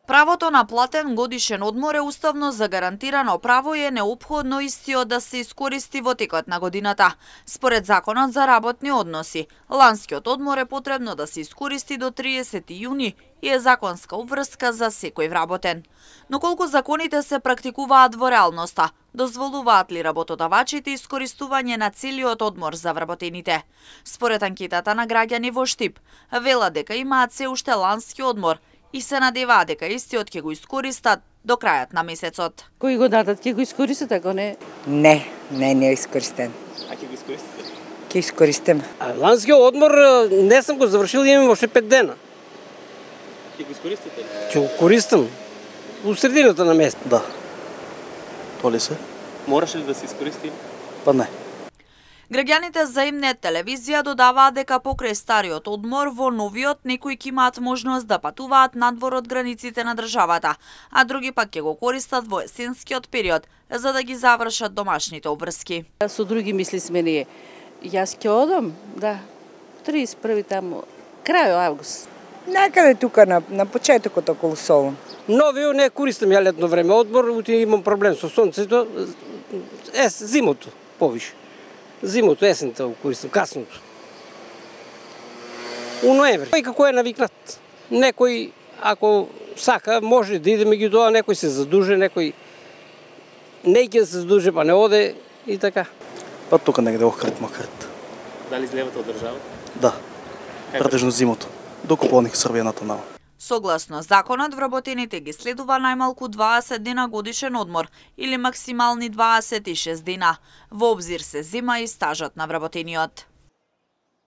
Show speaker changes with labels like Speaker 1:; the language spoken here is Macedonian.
Speaker 1: Правото на платен годишен одмор е уставно загарантирано право и е неопходно истиот да се искористи во текот на годината. Според Законот за работни односи, ланскиот одмор е потребно да се искористи до 30 јуни и е законска обврска за секој вработен. Но колку законите се практикуваат во реалноста, дозволуваат ли работодавачите искористување на целиот одмор за вработените? Според анкетата на граѓани во Штип, велат дека имаат се уште лански одмор и се надеваат дека истиот ќе го искористат до крајот на месецот.
Speaker 2: Кој го дадат ќе го искористат, ако не?
Speaker 3: Не е искористен.
Speaker 4: А ќе го искористите?
Speaker 3: Ќе искористим.
Speaker 5: Ланскиот одмор не сум го завршил, имам още 5 дена.
Speaker 4: Ќе го искористите?
Speaker 5: Ќе го користам у средината на месец.
Speaker 6: Да. То ли се?
Speaker 4: Мораше ли да се искористи?
Speaker 6: Па не.
Speaker 1: Граѓаните за Имнет телевизија додаваат дека покрај стариот одмор во новиот некои ќе имаат можност да патуваат надвор од границите на државата, а други пак ќе го користат во есенскиот период за да ги завршат домашните обврски.
Speaker 2: Со други мисли сме ние. Јас ќе одам, да, 31 таму, крај август.
Speaker 3: Некаде тука на почетокот околу Солун.
Speaker 5: Новиот не користам ја летно време одмор, имам проблем со сонцето, зимото повише. Зимото, есента го користам, касното. У ноември. Кој како е навикнат. Некој, ако сака, може да иде меѓу тоа, некој се задуже, некој не ќе се задуже, па не оде и така.
Speaker 6: Па тука негде охрт макрт.
Speaker 4: Дали излевате од државата?
Speaker 6: Да. Претежно зимото. До Копоник Срвената нава.
Speaker 1: Согласно законот, вработените ги следува најмалку 20 дена годишен одмор или максимални 26 дена. Во обзир се зема и стажот на вработениот.